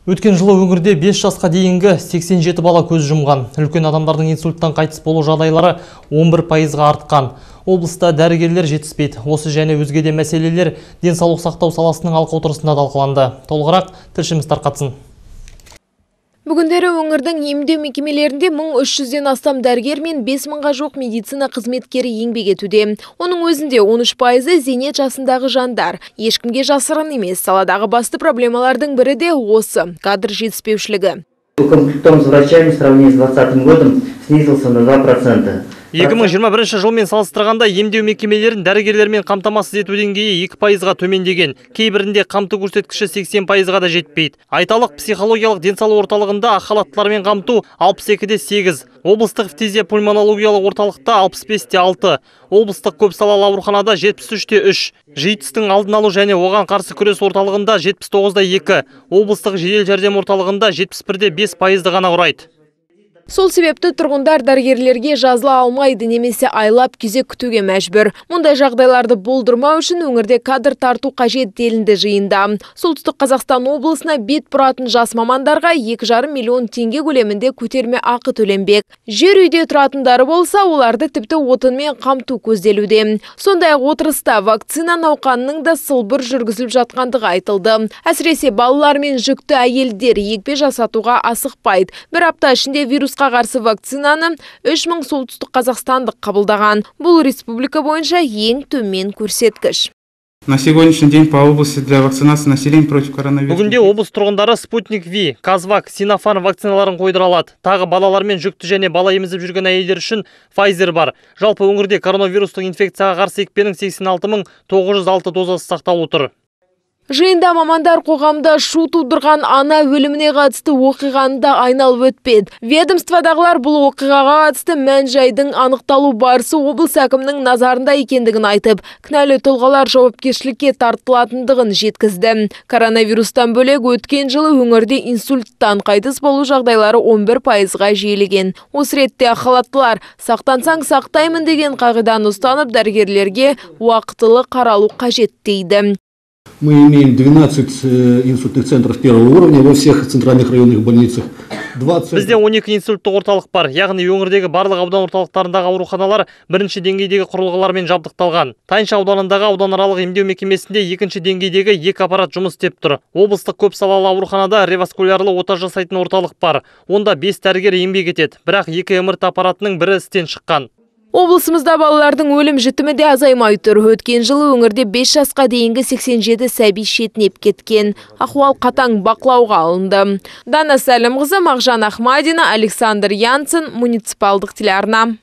Өткен жылы өңірде 5 жасқа дейінгі 87 бала көз жұмған. Үлкен адамдардың инсульттан қайтыс болу жағдайлары 11%-ға артқан. Облыста дәрігерлер жетіспейді. Осы және өзге де мәселелер денсаулық сақтау саласының алқа отырысында талқыланды. Толығырақ тілшіміз тарқатсын. Бүгіндері өңірдің емдеу мекемелерінде 1300-ден астам дәрігер мен 5000-ға жоқ медицина қызметкері еңбек етуде. Оның өзінде 13%-ы зейнет жасындағы жандар. Ешкімге жасырын емес, саладағы басты проблемалардың бірі де осы кадр жетіспеушілігі. Укомплектованность врачами в сравнении с 2020 годом снизился на 2%. 2021 жылмен салыстырғанда емдеу мекемелерін дәрігерлермен қамтамасыз ету деңгейі 2%-ға төмендеген. Кейбірінде қамту көрсеткіші 80%-ға да жетпейді. Айталық, психологиялық денсаулық орталығында ақ халаттылармен қамту 62-де 8, облыстық фтизия пульмонологиялық орталықта 65-те 6, облыстық көпсалалы ауруханада 73-те 3, житстің алдын алу және оған қарсы күрес орталығында 79-да 2, облыстық жедел жәрдем орталығында 71-де 5%-ды ғана құрайды. Сол себепті тұрғындар дәрігерлерге жазыла алмайды, немесе айлап кезек күтуге мәжбүр. Мұндай жағдайларды болдырмау үшін өңірде кадр тарту қажет делінді жиында. Солтүстік Қазақстан облысына бет бұратын жас мамандарға 2,5 миллион теңге көлемінде көтерме ақы төленбек. Жер үйде тұратындары болса, оларды тіпті отынмен қамту көзделуде. Сондай-ақ отырыста вакцина науқанының да сылбыр жүргізіліп жатқандығы айтылды. Әсіресе балалар мен жүкті әйелдер екпе жасатуға асықпайды. Бір апта ішінде вирусқа қарсы вакцинаны 3000 солтүстік қазақстандық қабылдаған. Бұл республика бойынша ең төмен көрсеткіш. На сегодняшний день по области для вакцинации населения против коронавируса. Бүгінде облыс тұрғындары Спутник V, Казвак, Синофарм вакциналарын қойдыра алады. Тағы балалар мен жүкті және бала емізіп жүрген әйелдер үшін Pfizer бар. Жалпы өңірде коронавирустық инфекцияға қарсы екпенің 86.906 дозасы сақталып отыр. Жиында мамандар қоғамда шу тудырған ана өліміне қатысты оқиғаны да айналып өтпеді. Ведомстводағылар бұл оқиғаға қатысты мән-жайдың анықталу барысы облыс әкімінің назарында екендігін айтып, кінәлі тұлғалар жауапкершілікке тартылатындығын жеткізді. Коронавирустан бөлек өткен жылы өңірде инсульттан қайтыс болу жағдайлары 11%-ға жиілеген. Осы ретте ақ халаттылар сақтансаң сақтаймын деген қағиданы ұстанып дәрігерлерге уақытылы қаралу қажет дейді. Мы имеем 12 инсультных центров первого уровня во всех центральных районных больницах. Бізде 12 инсульттық орталық бар, яғни өңірдегі барлық аудан орталықтарындағы ауруханалар бірінші деңгейдегі құрылғылармен жабдықталған. Тайынша ауданындағы ауданаралық емдеу мекемесінде екінші деңгейдегі 2 аппарат жұмыс істеп тұр. Облыстық көпсалалы ауруханада реваскулярлы ота жасайтын орталық бар. Онда 5 дәрігер еңбек етеді, бірақ 2 МРТ аппаратының бірі істен шыққан. Облысымызда балалардың өлім жітімі де азаймай тұр. Өткен жылы өңірде 5 жасқа дейінгі 87 сәби шетінеп кеткен. Ахуал қатаң бақылауға алынды. Дана Сәлімқызы, Мағжан Ахмадина, Александр Янсен, муниципалдық телеарна.